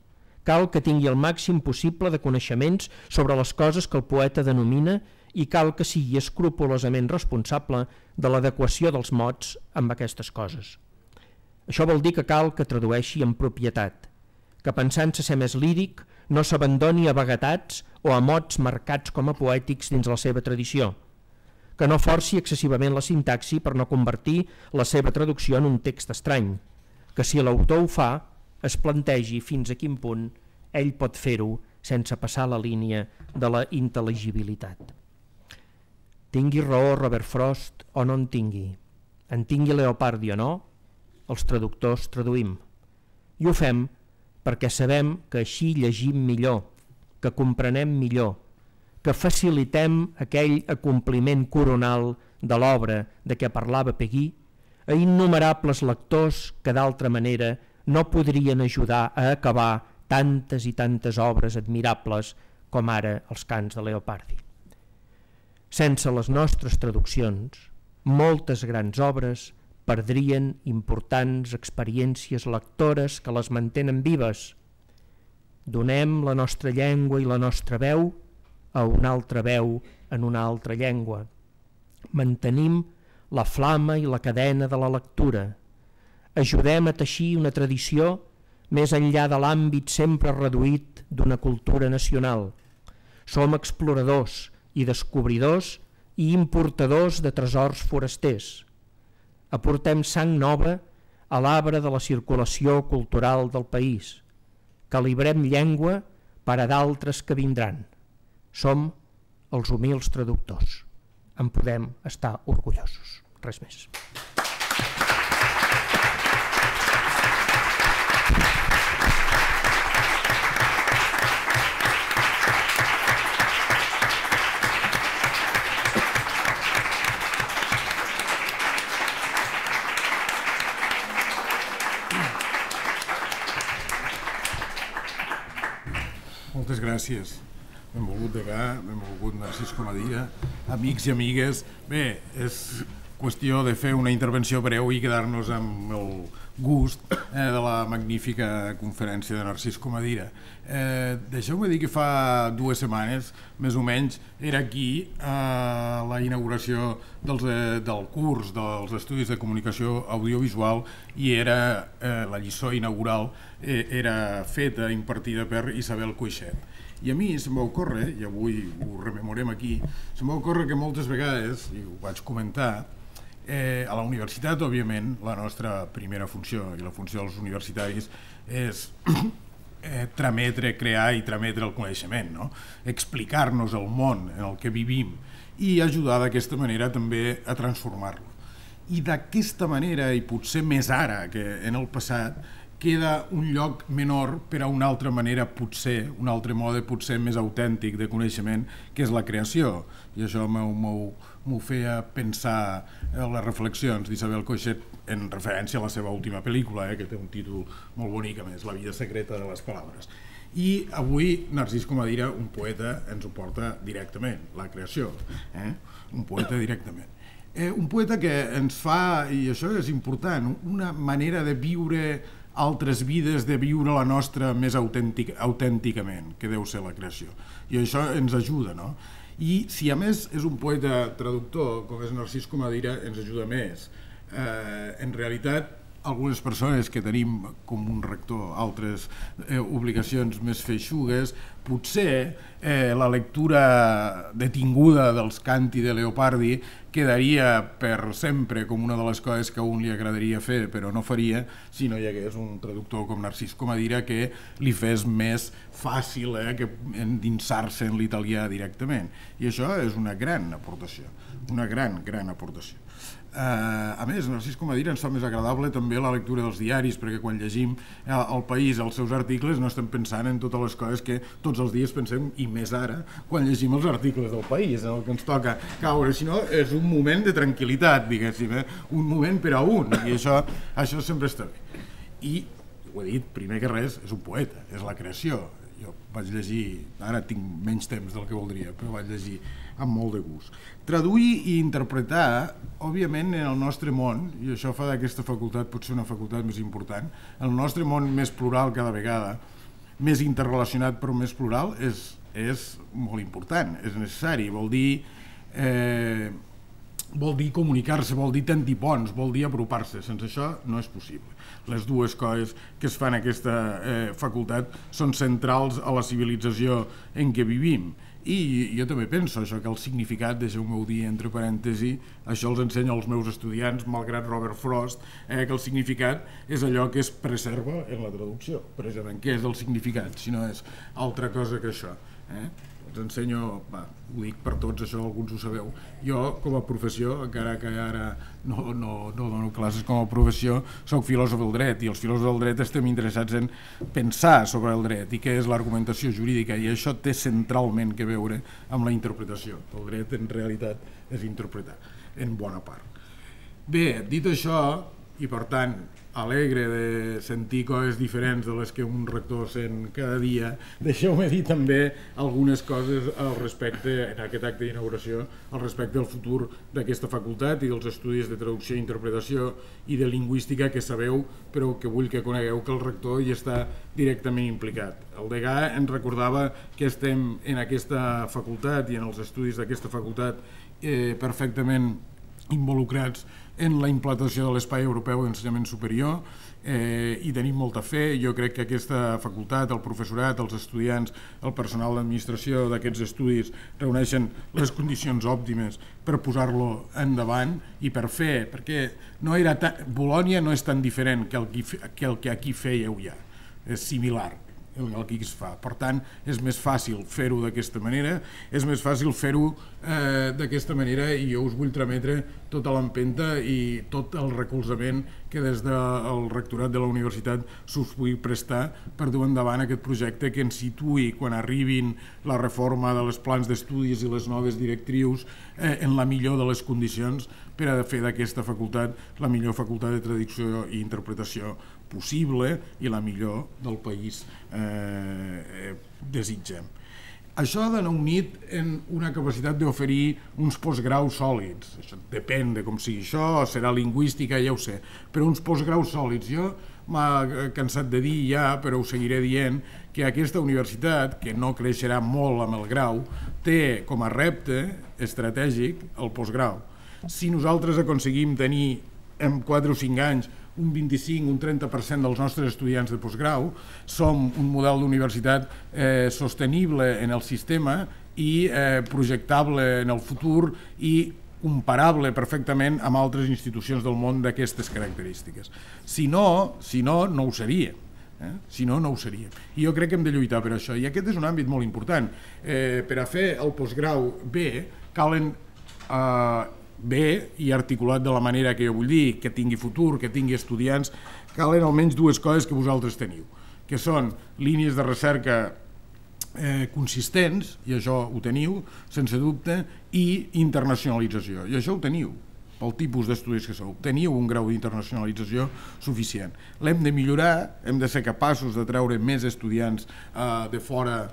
cal que tingui el màxim possible de coneixements sobre les coses que el poeta denomina i cal que sigui escrupolosament responsable de l'adequació dels mots amb aquestes coses. Això vol dir que cal que tradueixi amb propietat, que pensant-se ser més líric no s'abandoni a vaguetats o a mots marcats com a poètics dins la seva tradició, que no forci excessivament la sintaxi per no convertir la seva traducció en un text estrany, que si l'autor ho fa, es plantegi fins a quin punt ell pot fer-ho sense passar la línia de la intel·ligibilitat. Tingui raó Robert Frost o no en tingui, en tingui Leopardi o no, els traductors traduïm. I ho fem perquè sabem que així llegim millor, que comprenem millor, que facilitem aquell acompliment coronal de l'obra de què parlava Peguí a innumerables lectors que d'altra manera no podrien ajudar a acabar tantes i tantes obres admirables com ara els cants de Leopardi. Sense les nostres traduccions, moltes grans obres perdrien importants experiències lectores que les mantenen vives. Donem la nostra llengua i la nostra veu a una altra veu en una altra llengua. Mantenim la flama i la cadena de la lectura. Ajudem a teixir una tradició més enllà de l'àmbit sempre reduït d'una cultura nacional. Som exploradors i descobridors i importadors de tresors forasters. Aportem sang nova a l'arbre de la circulació cultural del país. Calibrem llengua per a d'altres que vindran. Som els humils traductors. En podem estar orgullosos. Res més. Moltes gràcies. Benvolgut Degà, benvolgut Narcís Comadira, amics i amigues. Bé, és qüestió de fer una intervenció breu i quedar-nos amb el gust eh, de la magnífica conferència de Narcís Comadira. Eh, Deixeu-me dir que fa dues setmanes, més o menys, era aquí a la inauguració dels, eh, del curs dels Estudis de Comunicació Audiovisual i era eh, la lliçó inaugural eh, era feta, impartida per Isabel Coixet. I a mi se'm va ocórrer, i avui ho rememorem aquí, se'm va ocórrer que moltes vegades, i ho vaig comentar, eh, a la universitat, òbviament, la nostra primera funció i la funció dels universitaris és eh, trametre, crear i trametre el coneixement, no? Explicar-nos el món en el que vivim i ajudar d'aquesta manera també a transformar-lo. I d'aquesta manera, i potser més ara que en el passat, queda un lloc menor per a una altra manera, potser, un altre mode potser més autèntic de coneixement, que és la creació. I això m'ho feia pensar en les reflexions d'Isabel Coixet en referència a la seva última pel·lícula, eh, que té un títol molt bonic, a més, La vida secreta de les paraules. I avui Narcís Comadira, un poeta, ens ho porta directament, la creació, eh? Un poeta directament. Eh, un poeta que ens fa, i això és important, una manera de viure altres vides, de viure la nostra més autèntic, autènticament, que deu ser la creació. I això ens ajuda, no? I si a més és un poeta traductor, com és Narcís Comadira, ens ajuda més. Eh, en realitat, algunes persones que tenim com un rector altres eh, obligacions més feixugues, potser eh, la lectura detinguda dels canti de Leopardi quedaria per sempre com una de les coses que a un li agradaria fer però no faria si no hi hagués un traductor com Narcís Comadira que li fes més fàcil eh, que endinsar-se en l'italià directament. I això és una gran aportació, una gran, gran aportació. Uh, a més, Narcís Comadira ens fa més agradable també la lectura dels diaris, perquè quan llegim al País els seus articles no estem pensant en totes les coses que tots els dies pensem, i més ara quan llegim els articles del País, en el que ens toca caure, sinó és un moment de tranquil·litat, diguéssim, eh? Un moment per a un, i això, això sempre està bé. I, ho he dit, primer que res, és un poeta, és la creació. Jo vaig llegir, ara tinc menys temps del que voldria, però vaig llegir amb molt de gust. Traduir i interpretar, òbviament, en el nostre món, i això fa d'aquesta facultat potser una facultat més important, el nostre món més plural cada vegada, més interrelacionat però més plural, és, és molt important, és necessari, vol dir, eh, vol dir comunicar-se, vol dir tendir ponts, vol dir apropar-se, sense això no és possible. Les dues coses que es fan en aquesta eh, facultat són centrals a la civilització en què vivim I jo també penso això, que el significat, deixeu-m'ho dir entre parèntesi, això els ensenya als meus estudiants, malgrat Robert Frost, eh, que el significat és allò que es preserva en la traducció. Precisament, què és el significat, si no és altra cosa que això? Eh? Els ensenyo, va, ho dic per tots, això alguns ho sabeu. Jo, com a professió, encara que ara no, no, no dono classes com a professió, soc filòsof del dret, i els filòsofs del dret estem interessats en pensar sobre el dret i què és l'argumentació jurídica, i això té centralment que veure amb la interpretació. El dret, en realitat, és interpretar, en bona part. Bé, dit això, i per tant, alegre de sentir coses diferents de les que un rector sent cada dia, deixeu-me dir també algunes coses al respecte, en aquest acte d'inauguració, al respecte del futur d'aquesta facultat i dels estudis de traducció i interpretació i de lingüística que sabeu, però que vull que conegueu que el rector hi està directament implicat. El degà ens recordava que estem en aquesta facultat i en els estudis d'aquesta facultat eh, perfectament involucrats en la implantació de l'Espai Europeu d'Ensenyament Superior eh, i tenim molta fe. Jo crec que aquesta facultat, el professorat, els estudiants, el personal d'administració d'aquests estudis reuneixen les condicions òptimes per posar-lo endavant i per fer, perquè no era tan, Bolònia no és tan diferent que el que, que el que aquí fèieu ja, és similar el que es fa. Per tant, és més fàcil fer-ho d'aquesta manera, és més fàcil fer-ho eh, d'aquesta manera i jo us vull trametre tota l'empenta i tot el recolzament que des del rectorat de la universitat s'us pugui prestar per dur endavant aquest projecte que ens situï, quan arribin la reforma de les plans d'estudis i les noves directrius, eh, en la millor de les condicions per a fer d'aquesta facultat la millor facultat de traducció i interpretació possible i la millor del país eh, desitgem. Això ha d'anar unit en una capacitat d'oferir uns postgraus sòlids. Això depèn de com sigui això, serà lingüística, ja ho sé, però uns postgraus sòlids. Jo m'ha cansat de dir ja, però ho seguiré dient, que aquesta universitat, que no creixerà molt amb el grau, té com a repte estratègic el postgrau. Si nosaltres aconseguim tenir en quatre o cinc anys un vint-i-cinc, un trenta per cent dels nostres estudiants de postgrau, som un model d'universitat eh, sostenible en el sistema i eh, projectable en el futur i comparable perfectament amb altres institucions del món d'aquestes característiques. Si no, si no, no ho seria. Eh? Si no, no ho seria. I jo crec que hem de lluitar per això. I aquest és un àmbit molt important. Eh, per a fer el postgrau bé, calen eh, bé i articulat de la manera que jo vull dir, que tingui futur, que tingui estudiants, calen almenys dues coses que vosaltres teniu, que són línies de recerca eh, consistents, i això ho teniu, sense dubte, i internacionalització, i això ho teniu, pel tipus d'estudis que sou. Teniu un grau d'internacionalització suficient. L'hem de millorar, hem de ser capaços de treure més estudiants eh, de fora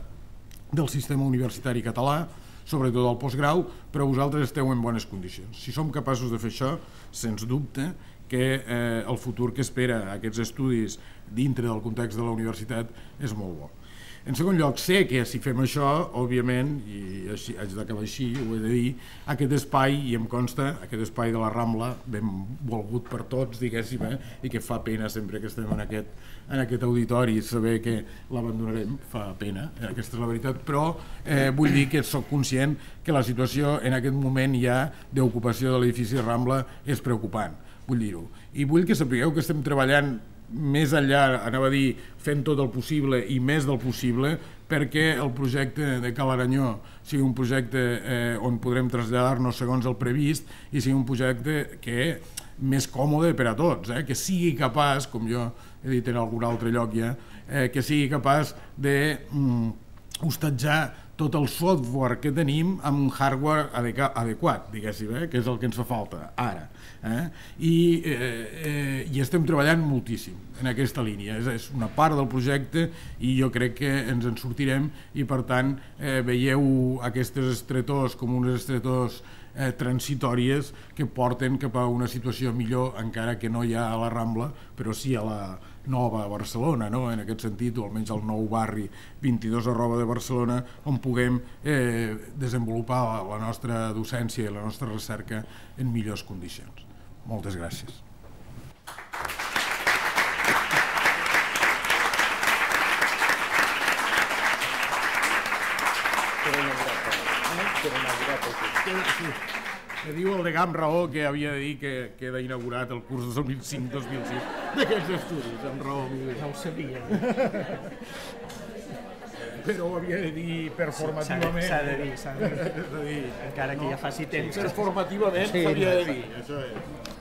del sistema universitari català, sobretot al postgrau, però vosaltres esteu en bones condicions. Si som capaços de fer això, sens dubte que eh, el futur que espera aquests estudis dintre del context de la universitat és molt bo. En segon lloc, sé que si fem això, òbviament, i així, haig d'acabar així, ho he de dir, aquest espai, i em consta, aquest espai de la Rambla, ben volgut per tots, diguéssim, eh, i que fa pena sempre que estem en aquest, en aquest auditori, saber que l'abandonarem, fa pena, eh, aquesta és la veritat, però eh, vull dir que sóc conscient que la situació en aquest moment ja d'ocupació de l'edifici Rambla és preocupant, vull dir-ho. I vull que sapigueu que estem treballant més enllà, anava a dir, fent tot el possible i més del possible perquè el projecte de Cal Aranyó sigui un projecte eh, on podrem traslladar-nos segons el previst i sigui un projecte que més còmode per a tots, eh, que sigui capaç, com jo he dit en algun altre lloc ja, eh, que sigui capaç de mm, hostatjar tot el software que tenim amb un hardware adequat, diguéssim, eh? que és el que ens fa falta ara. Eh? I, eh, eh, I estem treballant moltíssim en aquesta línia. És, és una part del projecte i jo crec que ens en sortirem i, per tant, eh, veieu aquestes estretors com unes estretors eh, transitòries que porten cap a una situació millor, encara que no hi ha a la Rambla, però sí a la nova Barcelona, no? En aquest sentit, o almenys el nou barri vint-i-dos arroba de Barcelona, on puguem eh, desenvolupar la, la nostra docència i la nostra recerca en millors condicions. Moltes gràcies. Me diu el degà amb raó que havia de dir que queda inaugurat el curs dos mil cinc dos mil sis d'aquests estudis, amb raó. No ho sabia. Però ho havia de dir performativament. S'ha de dir, s'ha de dir. Encara que ja faci temps. Performativament s'havia de dir, això és.